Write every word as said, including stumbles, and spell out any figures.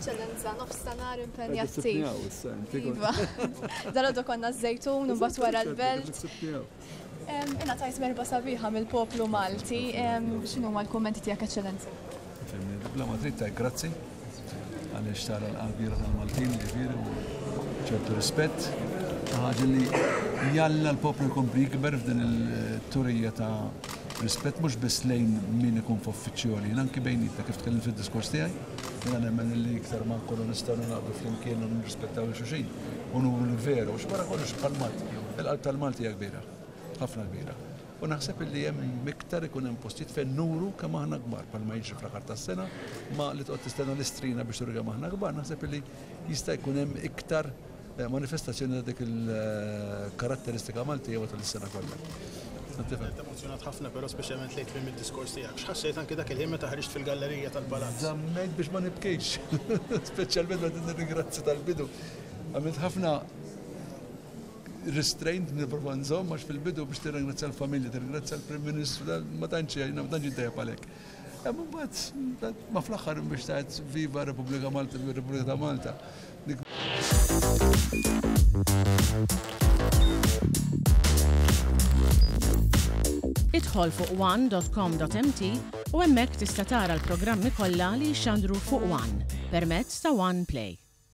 Eċċellenza, nofstanhar impenjattiv. Iva. Dalgħodu konna ż-Żejtun u mbagħad wara l-Belt. Ingħatajt merħba sabiħa mill-poplu Malti. X'inhuma l-kummenti tiegħek, Eċċellenza? Bla ma trid tajt grazzi għaliex tara l-qalbira tal-Maltin, ġifieri, u ċertu rispett. Ħaġa li jalla l-poplu jkompli jikber f'din il-turija ta' rispett mhux biss lejn min ikun f'uffiċjali, anki bejnietna, kif tkellim fid-diskors tiegħi. Jiena nemmen li iktar ma nkunu nistgħu naqdu flimkien u nirrispettaw lil xulxin u nuru l-veru, u wara kollox bħal-Malti. Il-qalb tal-Malti hija kbira, ħafna kbira. U naħseb li hemm iktar ikun hemm postijiet fejn nuru kemm aħna kbar, bħalma jiġri fl-aħħar tas-sena, ma li toqgħod tistenna l-Istrina biex turi kemm aħna kbar, naħseb li jista' jkun hemm iktar manifestazzjoni ta' dik il-karatteristika Maltija matul is-sena kollha. Emozjonat ħafna, però speċjalment lejn tmiem id-diskors tiegħek. X'ħassejt anke dak il-ħin meta ħriġt fil-gallerija tal-palazz? Żammejt biex ma nibkejx, speċjalment meta nirringrazzja tal-bidu. Għamilt ħafna restraint, nipprova nżomm, għax fil-bidu biex tirringrazzja l-familja, tirringrazzja l-Prim Ministru, ma tantx ma tantx intajjeb għalhekk. Imma mbagħad ma fl-aħħar biex tgħid "Viva Repubblika Malta, Repubblika ta' Malta". Idħol fuq one dot com dot M T u hemmhekk tista' tara l-programmi kollha li jxandru fuq One permezz ta' One Play.